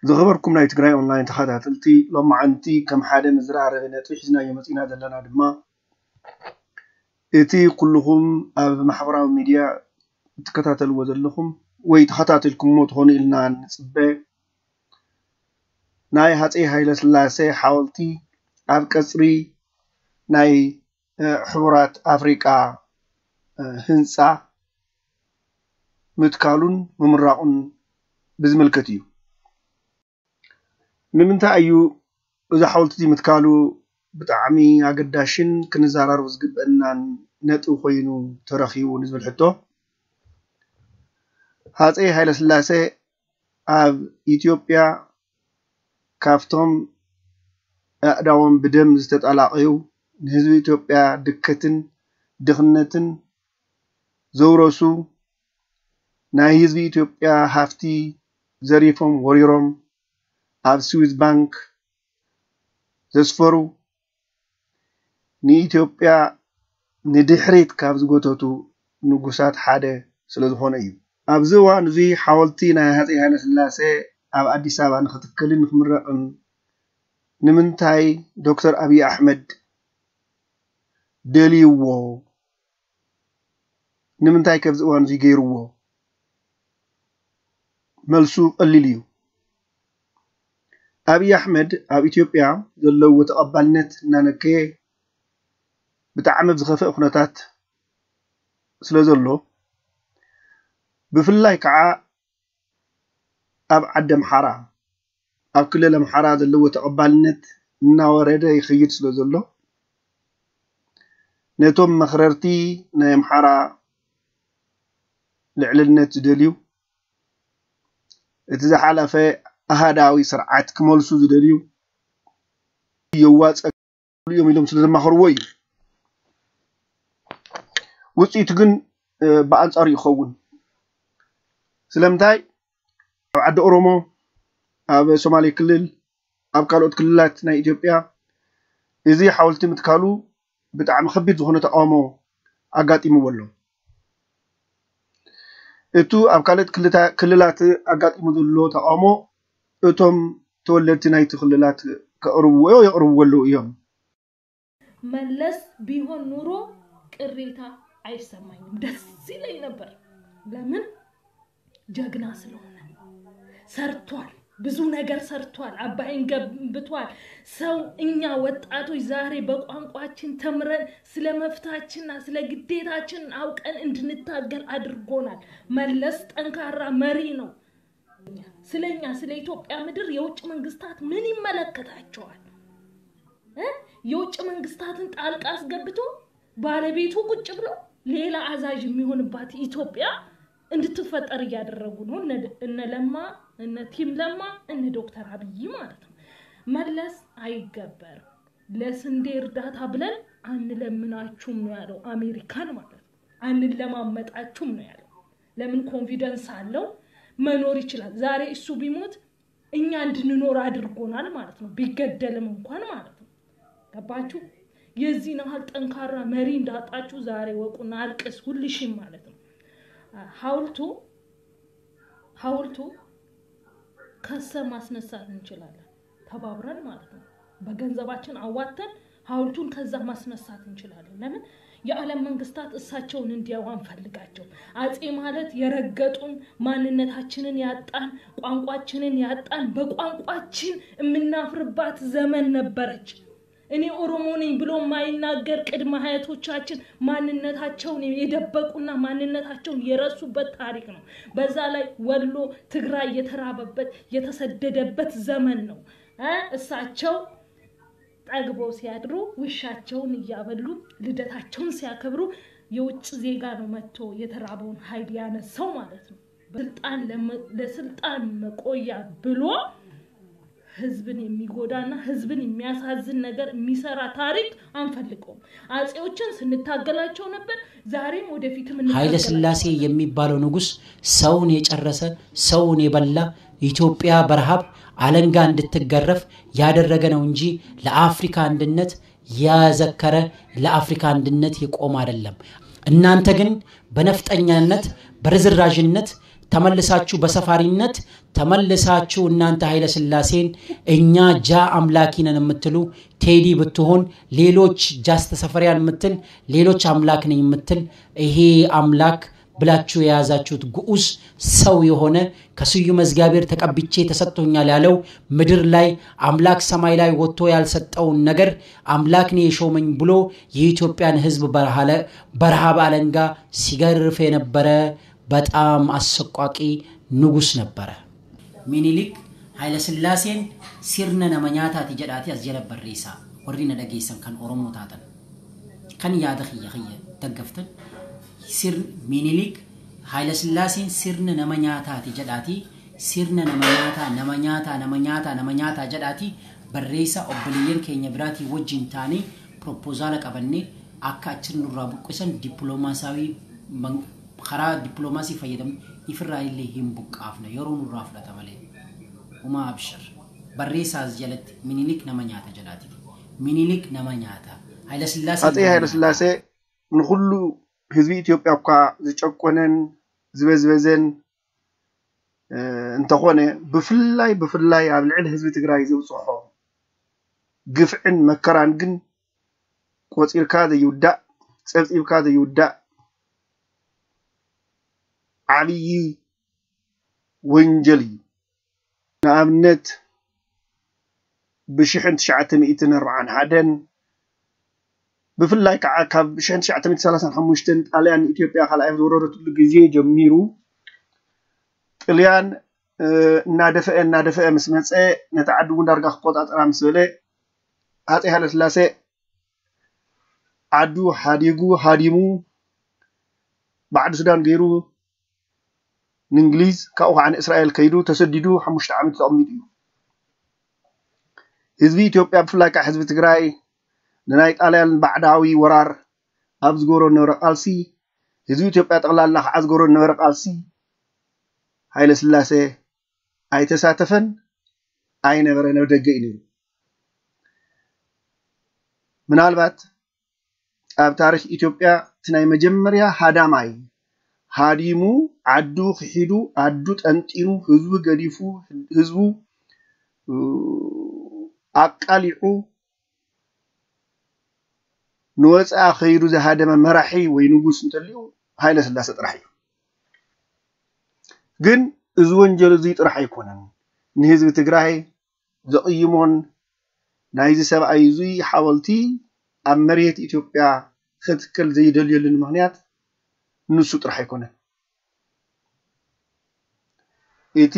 ዝኸበርኩም ናይ ትግራይ ኦንላይን ተኸታተልቲ፣ ሎማዓንቲ ከም ሓደ መዘራረቢ ነጥቢ ሒዝናዮ መፂና ዘለና ድማ፣ እቲ ኩልኹም ኣብ ማሕበራዊ ሚድያ እትከታተልዎ ዘለኹም ወይ ተኸታተልኩምዎ ትኾኑ ኢልና ንፅበ፣ ናይ ሃፀይ ሃይለስላሴ ሓወልቲ ኣብ ቀፅሪ ናይ ሕቡራት ኣፍሪቃ ህንፃ ምትካሉን ምምራቑን ብዝምልከት እዩ። ንምንታይ እዩ እዚ ሓወልቲ እዚ ምትካሉ ብጣዕሚ ኣገዳሽን ክንዘራረቦ ዝግበአናን ነጥቢ ኮይኑ ተረኺቡ ንዝብል ሕቶ፣ ሃፀይ ሃይለስላሴ ኣብ ኢትዮጵያ ካብቶም ኣእዳዎም ብደም ዝተጠላቐዩ፣ ንህዝቢ ኢትዮጵያ ድከትን ድኽነትን ዘውረሱ፣ ናይ ህዝቢ ኢትዮጵያ ሃፍቲ ዘሪፎም ወሪሮም ኣብ ስዊዝ ባንክ ዘስፈሩ፣ ንኢትዮጵያ ንድሕሪት ካብ ዝጎተቱ ንጉሳት ሓደ ስለ ዝኾነ እዩ። ኣብዚ እዋን እዚ ሓወልቲ ናይ ሃፀይ ሃይለስላሴ ኣብ ኣዲስ ኣበባ ንክትከልን ንክምረቕን ንምንታይ ዶክተር ኣብይ ኣሕመድ ደልይዎ? ንምንታይ ከ ኣብዚ እዋን እዚ ገይርዎ? መልሱ ቀሊል እዩ። ኣብይ ኣሕመድ ኣብ ኢትዮጵያ ዘለዎ ተቐባልነት እናነከየ ብጣዕሚ ኣብ ዝኸፍአ ኩነታት ስለ ዘሎ፣ ብፍላይ ከዓ ኣብ ዓዲ ኣምሓራ፣ ኣብ ክልል ኣምሓራ ዘለዎ ተቐባልነት እናወረደ ይኸይድ ስለ ዘሎ፣ ነቶም መኽረርቲ ናይ ኣምሓራ ልዕልነት ዝደልዩ፣ እቲ ዝሓለፈ ኣሃዳዊ ስርዓት ክመልሱ ዝደልዩ የዋፀ እዮም ኢሎም ስለ ዘማኸርዎ እዩ። ውፅኢቱ ግን ብኣንፃሩ ይኸውን። ስለምንታይ? ኣብ ዓዲ ኦሮሞ፣ ኣብ ሶማሌ ክልል፣ ኣብ ካልኦት ክልላት ናይ ኢትዮጵያ እዚ ሓወልቲ ምትካሉ ብጣዕሚ ከቢድ ዝኾነ ተቃውሞ ኣጋጢምዎ ኣሎ። እቱ ኣብ ካልኦት ክልላት ኣጋጢሙ ዘሎ ተቃውሞ እቶም ተወለድቲ ናይቲ ክልላት ከቕርብዎ የቕርብዎ ኣለዉ እዮም። መለስ ቢሆን ኑሮ ቅሬታ ኣይሰማኝም፣ ደስ ይለኝ ነበር። ለምን? ጀግና ስለሆነ ሰርቷል፣ ብዙ ነገር ሰርቷል፣ አባይን ገንብቷል። ሰው እኛ ወጣቶች ዛሬ በቋንቋችን ተምረን ስለ መፍታችንና ስለ ግዴታችን አውቀን እንድንታገል አድርጎናል። መለስ ጠንካራ መሪ ነው። ስለኛ ስለ ኢትዮጵያ ምድር የውጭ መንግስታት ምን ይመለከታቸዋል? የውጭ መንግስታትን ጣልቃ አስገብቶ ባለቤቱ ቁጭ ብሎ ሌላ አዛዥ የሚሆንባት ኢትዮጵያ እንድትፈጠር እያደረጉ ነው። እነ ለማ፣ እነ ቲም ለማ፣ እነ ዶክተር አብይ ማለት ነው። መለስ አይገበር፣ ለስንዴ እርዳታ ብለን አንለምናችሁም ነው ያለው አሜሪካን ማለት ነው። አንለማመጣችሁም ነው ያለው። ለምን? ኮንፊደንስ አለው፣ መኖር ይችላል። ዛሬ እሱ ቢሞት እኛ እንድንኖር አድርጎናል ማለት ነው፣ ቢገደልም እንኳን ማለት ነው። ገባችሁ? የዚህን ያህል ጠንካራ መሪ እንዳጣችሁ ዛሬ ወቁና አልቅስ ሁልሽም ማለት ነው። ሐውልቱ ሐውልቱ ከሰ ማስነሳት እንችላለን ተባብረን ማለት ነው። በገንዘባችን አዋተን ሐውልቱን ከዛ ማስነሳት እንችላለን። ለምን? የዓለም መንግስታት እሳቸውን እንዲያው አንፈልጋቸው። አጼ ማለት የረገጡን፣ ማንነታችንን ያጣን፣ ቋንቋችንን ያጣን፣ በቋንቋችን የምናፍርባት ዘመን ነበረች። እኔ ኦሮሞ ነኝ ብሎ የማይናገር ቅድመ አያቶቻችን ማንነታቸውን የደበቁና ማንነታቸውን የረሱበት ታሪክ ነው። በዛ ላይ ወሎ ትግራይ የተራበበት የተሰደደበት ዘመን ነው። እሳቸው ጠግበው ሲያድሩ ውሻቸውን እያበሉ ልደታቸውን ሲያከብሩ የውጭ ዜጋ ነው መጥቶ የተራበውን ኃይል ያነሳው ማለት ነው። ስልጣን ለስልጣን መቆያ ብሎ ህዝብን የሚጎዳና ህዝብን የሚያሳዝን ነገር የሚሰራ ታሪክ አንፈልገውም። አጼዎችን ስንታገላቸው ነበር፣ ዛሬም ወደፊትም ኃይለ እንታገላቸዋለን። ሥላሴ የሚባለው ንጉስ ሰውን የጨረሰ፣ ሰውን የበላ፣ ኢትዮጵያ በረሃብ አለንጋ እንድትገረፍ ያደረገ ነው እንጂ ለአፍሪካ አንድነት ያዘከረ፣ ለአፍሪካ አንድነት የቆመ አይደለም። እናንተ ግን በነፍጠኛነት፣ በርዝራዥነት ተመልሳችሁ፣ በሰፋሪነት ተመልሳችሁ እናንተ ኃይለ ሥላሴን እኛ ጃ አምላኪ ነን የምትሉ፣ ቴዲ ብትሆን፣ ሌሎች ጃስት ሰፈሪያን የምትል፣ ሌሎች አምላክ ነኝ የምትል፣ ይሄ አምላክ ብላችሁ የያዛችሁት ግዑዝ ሰው የሆነ፣ ከስዩመ እግዚአብሔር ተቀብቼ ተሰጥቶኛል ያለው፣ ምድር ላይ አምላክ ሰማይ ላይ ወጥቶ ያልሰጠውን ነገር አምላክ ነው የሾመኝ ብሎ የኢትዮጵያን ሕዝብ በረሃ ለ- በረሃብ አለንጋ ሲገርፍ የነበረ በጣም አሰቋቂ ንጉስ ነበረ። ሚኒሊክ ኃይለ ሥላሴን ሲርነ ነመኛታቲ ጀዳቲ አስጀረ በሬሳ። ወሪነ ደጌሰን ከን ኦሮሞ ታተን፣ ከን ያደ ኽየ ኽየ ደገፍትን፣ ሲር ሚኒሊክ ኃይለ ሥላሴን ሲርነ ነመኛታቲ ጀዳቲ፣ ሲርነ ነመኛታ ነመኛታ ነመኛታ ነመኛታ ጀዳቲ በሬሳ። ኦብልየን ኬኛ ብራቲ ወጅን ታኔ ፕሮፖዛለ ቀበኔ፣ አካ አችን ኑራ ቡቅሰን ዲፕሎማሲያዊ መን- ከራ ዲፕሎማሲ ፈየደም ይፍራ ይሌ ሂም ቡቃፍነ የሮ ኑራ ፍለተ መሌ። ኡማ አብሽር በሬሳ ዝጀለት ሚኒሊክ ነመኛተ ጀዳቲ። ሚኒሊክ ነመኛተ ኃይለ ሥላሴ አጼ ኃይለ ሥላሴ ንኹሉ ህዝቢ ኢትዮጵያ እኳ ዝጨቆነን ዝበዝበዘን እ፣ እንተኾነ፣ ብፍላይ ብፍላይ ኣብ ልዕሊ ህዝቢ ትግራይ ዘብፅሖ ግፍዕን መከራን ግን ቆፂርካ ዘይውዳእ፣ ፀብፂብካ ዘይውዳእ ዓብዪ ወንጀል እዩ። ንኣብነት ብሽሕን ትሽዓተ ሚእትን ኣርብዓን ሓደን፣ ብፍላይ ከዓ ካብ ሽሕን ትሽዓተ ሚእትን ሰላሳን ሓሙሽተን ጣልያን ንኢትዮጵያ ካልኣይ ኣብ ዝወረረትሉ ግዜ ጀሚሩ፣ ጥልያን እ፣ እናደፈአ እናደፈአ ምስ መፀ፣ ነቲ ዓዲ እውን ዳርጋ ክቆፃፀራ ምስ በለ፣ ሃፀይ ሃይለስላሴ ዓዱ ሓዲጉ ሃዲሙ፣ ባዕዲ ሱዳን ገይሩ፣ ንእንግሊዝ፣ ካብኡ ከዓ ንእስራኤል ከይዱ ተሰዲዱ ሓሙሽተ ዓመት ተቐሚጡ እዩ። ህዝቢ ኢትዮጵያ፣ ብፍላይ ከዓ ህዝቢ ትግራይ፣ ንናይ ጣልያን ባዕዳዊ ወራር ኣብ ዝገብሮ ዝነበረ ቃልሲ፣ ህዝቢ ኢትዮጵያ ጠቕላላ ከዓ ዝገብሮ ዝነበረ ቃልሲ፣ ሃይለ ስላሴ ኣይተሳተፈን፣ ኣይነበረን፣ ኣብ ደገ እዩ ነይሩ። ምናልባት ኣብ ታሪኽ ኢትዮጵያ እቲ ናይ መጀመርያ ሃዳማይ፣ ሃዲሙ፣ ዓዱ ክሒዱ፣ ዓዱ ጠንጢኑ፣ ህዝቡ ገዲፉ፣ ህዝቡ ኣቃሊዑ፣ ንወፃኢ ከይዱ ዝሃደመ መራሒ ወይ ንጉስ እንተልዩ፣ ሃይለ ስላሴ ጥራሕ እዩ። ግን እዚ ወንጀል እዚ ጥራሕ ኣይኮነን ንህዝቢ ትግራይ ዘቕይሞን፣ ናይዚ ሰብኣይ እዚ ሓወልቲ ኣብ መሬት ኢትዮጵያ ክትከል ዘይደልየሉን ምኽንያት ንሱ ጥራሕ ኣይኮነን። እቲ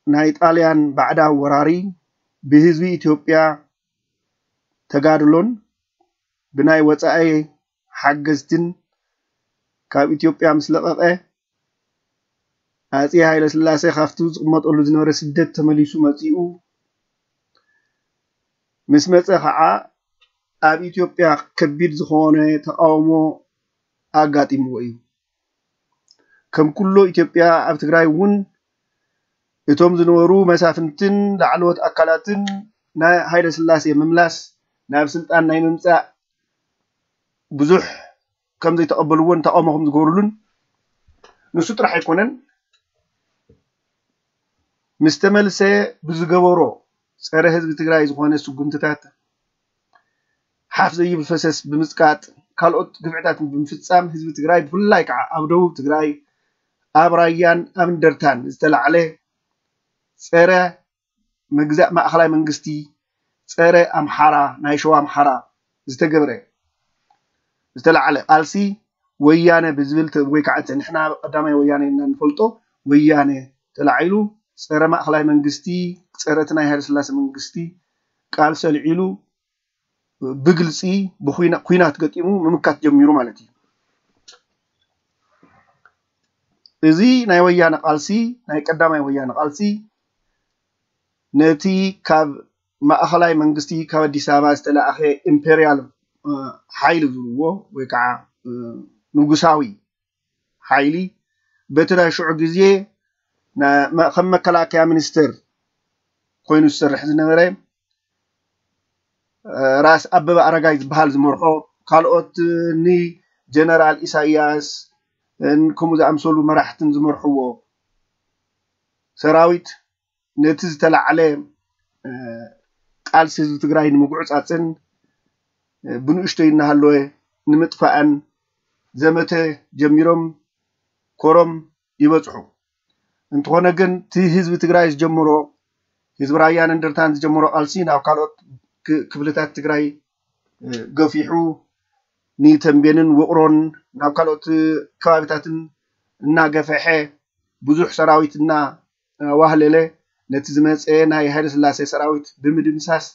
ናይ ጣልያን ባዕዳዊ ወራሪ ብህዝቢ ኢትዮጵያ ተጋድሎን ብናይ ወፃኢ ሓገዝትን ካብ ኢትዮጵያ ምስ ለቐቐ፣ ኣጼ ሃይለ ስላሴ ካብቲ ዝቕመጠሉ ዝነበረ ስደት ተመሊሱ መፂኡ። ምስ መፀ ከዓ ኣብ ኢትዮጵያ ከቢድ ዝኾነ ተቃውሞ ኣጋጢምዎ እዩ። ከም ኩሎ ኢትዮጵያ፣ ኣብ ትግራይ እውን እቶም ዝነበሩ መሳፍንትን ላዕለዎት ኣካላትን ናይ ሃይለ ስላሴ ምምላስ ናብ ስልጣን ናይ ምምፃእ ብዙሕ ከም ዘይተቐበልዎን ተቃውሞ ከም ዝገበሩሉን ንሱ ጥራሕ ኣይኮነን፣ ምስ ተመልሰ ብዝገበሮ ፀረ ህዝቢ ትግራይ ዝኾነ ስጉምትታት፣ ሓፍ ዘይብል ፈሰስ ብምፅቃጥ፣ ካልኦት ግፍዕታት ብምፍፃም፣ ህዝቢ ትግራይ ብፍላይ ከዓ ኣብ ደቡብ ትግራይ፣ ኣብ ራያን ኣብ እንደርታን ዝተላዕለ ፀረ ምግዛእ ማእኸላይ መንግስቲ፣ ፀረ ኣምሓራ፣ ናይ ሸዋ ኣምሓራ ዝተገብረ ዝተላዕለ ቃልሲ፣ ወያነ ብዝብል ተ- ወይ ከዓ እቲ ንሕና ቀዳማይ ወያነ ኢና ንፈልጦ፣ ወያነ ተላዒሉ፣ ፀረ ማእኸላይ መንግስቲ፣ ፀረ እቲ ናይ ሃይለስላሴ መንግስቲ ቃልሲ ኣልዒሉ፣ ብግልፂ ብኩና- ኩናት ገጢሙ ምምካት ጀሚሩ ማለት እዩ። እዚ ናይ ወያነ ቃልሲ፣ ናይ ቀዳማይ ወያነ ቃልሲ፣ ነቲ ካብ ማእኸላይ መንግስቲ ካብ ኣዲስ ኣበባ ዝተላእኸ ኢምፔርያል ሓይሊ ዝብልዎ ወይ ከዓ ንጉሳዊ ሓይሊ በቲ ናይ ሽዑ ግዜ ከም መከላከያ ሚኒስትር ኮይኑ ዝሰርሕ ዝነበረ ራስ ኣበበ ኣረጋይ ዝበሃል ዝመርሖ፣ ካልኦት ንጀነራል ኢሳያስ ከምኡ ዝኣምሰሉ መራሕትን ዝመርሕዎ ሰራዊት ነቲ ዝተላዕለ ቃልሲ ህዝቢ ትግራይ ንምጉዕፃፅን ብንእሽቶይ እናሃለወ ንምጥፋእን ዘመተ ጀሚሮም ኮረም ይበፅሑ። እንተኾነ ግን እቲ ህዝቢ ትግራይ ዝጀምሮ ህዝቢ ራያን እንደርታን ዝጀምሮ ቃልሲ ናብ ካልኦት ክፍልታት ትግራይ ገፊሑ ንተንቤንን ውቕሮን ናብ ካልኦት ከባቢታትን እናገፈሐ ብዙሕ ሰራዊት እናዋህለለ ነቲ ዝመፀ ናይ ሃይለስላሴ ሰራዊት ብምድምሳስ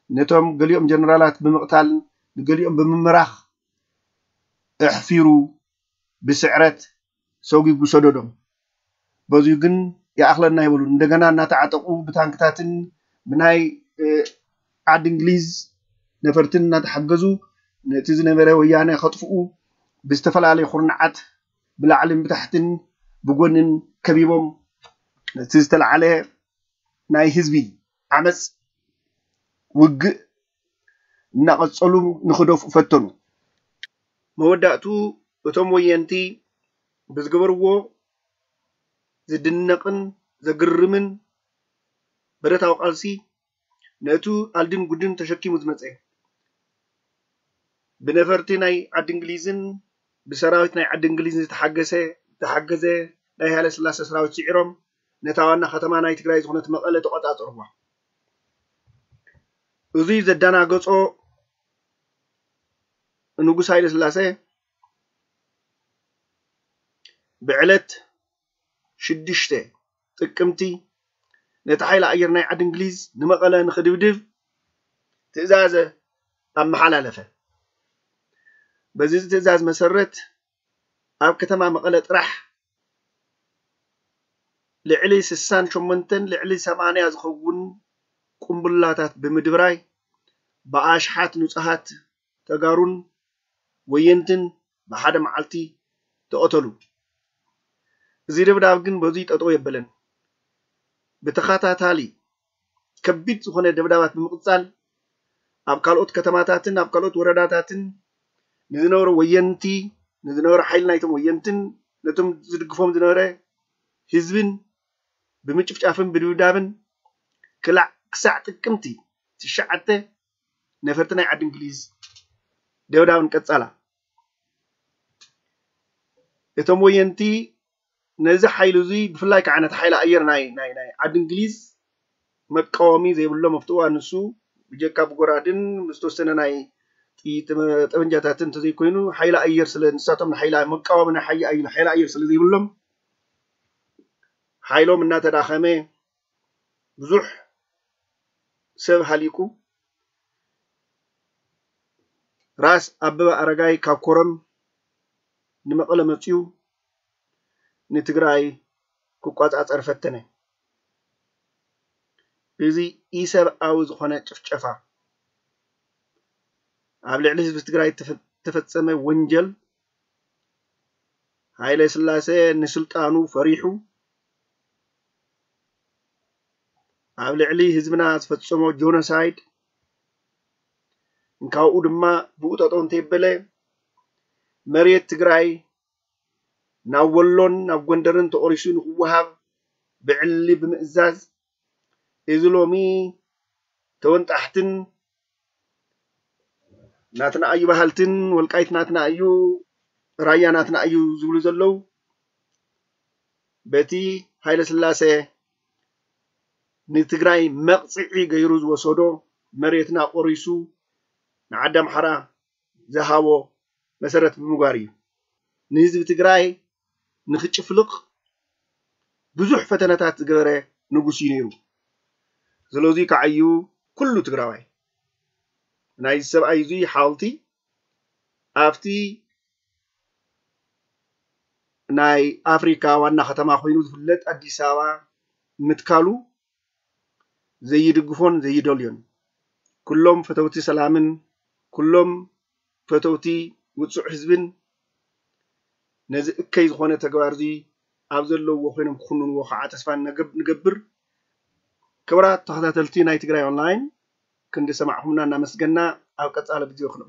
ነቶም ገሊኦም ጀነራላት ብምቕታል ንገሊኦም ብምምራኽ ኣሕፊሩ ብስዕረት ሰጒጉ ሰደዶም። በዚሁ ግን ይኣኽለና ኣይበሉን። እንደገና እናተዓጠቑ ብታንክታትን ብናይ ዓዲ እንግሊዝ ነፈርትን እናተሓገዙ ነቲ ዝነበረ ወያነ ከጥፍኡ ብዝተፈላለየ ኩርናዓት ብላዕልን ብታሕትን ብጎንን ከቢቦም ነቲ ዝተላዕለ ናይ ህዝቢ ዓመፅ ውግእ እናቐፀሉ ንክደፍኡ ፈተኑ። መወዳእቱ እቶም ወየንቲ ብዝገበርዎ ዝድነቕን ዘግርምን ብረታዊ ቃልሲ ነቱ ኣልድን ጉድን ተሸኪሙ ዝመፀ ብነፈርቲ ናይ ዓዲ እንግሊዝን ብሰራዊት ናይ ዓዲ እንግሊዝን ዝተሓገሰ ዝተሓገዘ ናይ ሃይለ ስላሴ ሰራዊት ስዒሮም ነታ ዋና ከተማ ናይ ትግራይ ዝኾነት መቐለ ተቆፃፀርዋ። እዙይ ዘደናገፆ ንጉስ ሃይለ ስላሴ ብዕለት ሽዱሽተ ጥቅምቲ ነቲ ሓይሊ ኣየር ናይ ዓዲ እንግሊዝ ንመቐለ ንኽድብድብ ትእዛዘ ኣመሓላለፈ። በዚ ትእዛዝ መሰረት ኣብ ከተማ መቐለ ጥራሕ ልዕሊ ስሳን ሸሞንተን ልዕሊ ሰማንያ ዝኸውን ቁምቡላታት ብምድብራይ ብኣሽሓት ንጹሃት ተጋሩን ወየንትን ብሓደ መዓልቲ ተቐተሉ። እዚ ደብዳብ ግን በዙይ ጠጠው የበለን። ብተኸታታሊ ከቢድ ዝኾነ ደብዳባት ብምቕጻል ኣብ ካልኦት ከተማታትን ኣብ ካልኦት ወረዳታትን ንዝነበሩ ወየንቲ ንዝነበሩ ሓይሊ ናይቶም ወየንትን ነቶም ዝድግፎም ዝነበረ ህዝብን ብምጭፍጫፍን ብድብዳብን ክላዕ ክሳዕ ጥቅምቲ ትሽዓተ ነፈርቲ ናይ ዓዲ እንግሊዝ ደብዳብን ቀጻላ። እቶም ወየንቲ ነዚ ሓይሊ እዚ ብፍላይ ከዓ ነቲ ሓይሊ ኣየር ናይ ናይ ናይ ዓዲ እንግሊዝ መቃወሚ ዘይብሎም ኣብቲ እዋን ንሱ ብጀካ ብጎራድን ዝተወሰነ ናይ ጥይት ጠበንጃታትን እንተዘይኮይኑ ሓይሊ ኣየር ስለ ንሳቶም ንሓይሊ መቃወሚ ናይ ሓይ ኣየር ሓይሊ ኣየር ስለ ዘይብሎም ሓይሎም እናተዳኸመ ብዙሕ ሰብ ሃሊቁ ራስ ኣበበ ኣረጋይ ካብ ኮረም ንመቐለ መፅዩ ንትግራይ ክቋፃፀር ፈተነ። እዚ ኢሰብኣዊ ዝኾነ ጭፍጨፋ ኣብ ልዕሊ ህዝቢ ትግራይ ዝተፈፀመ ወንጀል ሃይለ ስላሴ ንስልጣኑ ፈሪሑ ኣብ ልዕሊ ህዝብና ዝፈፀሞ ጆኖሳይድ እንካብኡ ድማ ብኡ ጠጠው እንተይበለ መሬት ትግራይ ናብ ወሎን ናብ ጎንደርን ተቆሪሱ ንክወሃብ ብዕሊ ብምእዛዝ እዚ ሎሚ ተወንጣሕትን ናትና እዩ በሃልትን ወልቃይት ናትና እዩ ራያ ናትና እዩ ዝብሉ ዘለዉ በቲ ሃይለ ስላሴ ንትግራይ መቕፅዒ ገይሩ ዝወሰዶ መሬትና ቆሪሱ ንዓዲ ኣምሓራ ዝሃቦ መሰረት ብምግባር እዩ ንህዝቢ ትግራይ ንክጭፍልቕ ብዙሕ ፈተነታት ዝገበረ ንጉስ እዩ ነይሩ። ስለዚ ከዓ እዩ ኩሉ ትግራዋይ ናይዚ ሰብኣይ እዙይ ሓወልቲ ኣብቲ ናይ ኣፍሪካ ዋና ከተማ ኮይኑ ዝፍለጥ ኣዲስ ኣበባ ምትካሉ ዘይድግፎን ዘይደልዮን ኩሎም ፈተውቲ ሰላምን ኩሎም ፈተውቲ ውፁዕ ህዝብን ነዚ እከይ ዝኾነ ተግባር እዚ ኣብ ዘለውዎ ኮይኖም ክኹንንዎ ከዓ ተስፋ ንገብር። ክቡራት ተኸታተልቲ ናይ ትግራይ ኦንላይን ክንዲ ሰማዕኹምና እናመስገና ኣብ ቀፃሊ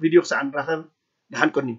ቪድዮ ክሳዕ ንራኸብ ደሓን ቀንዩ።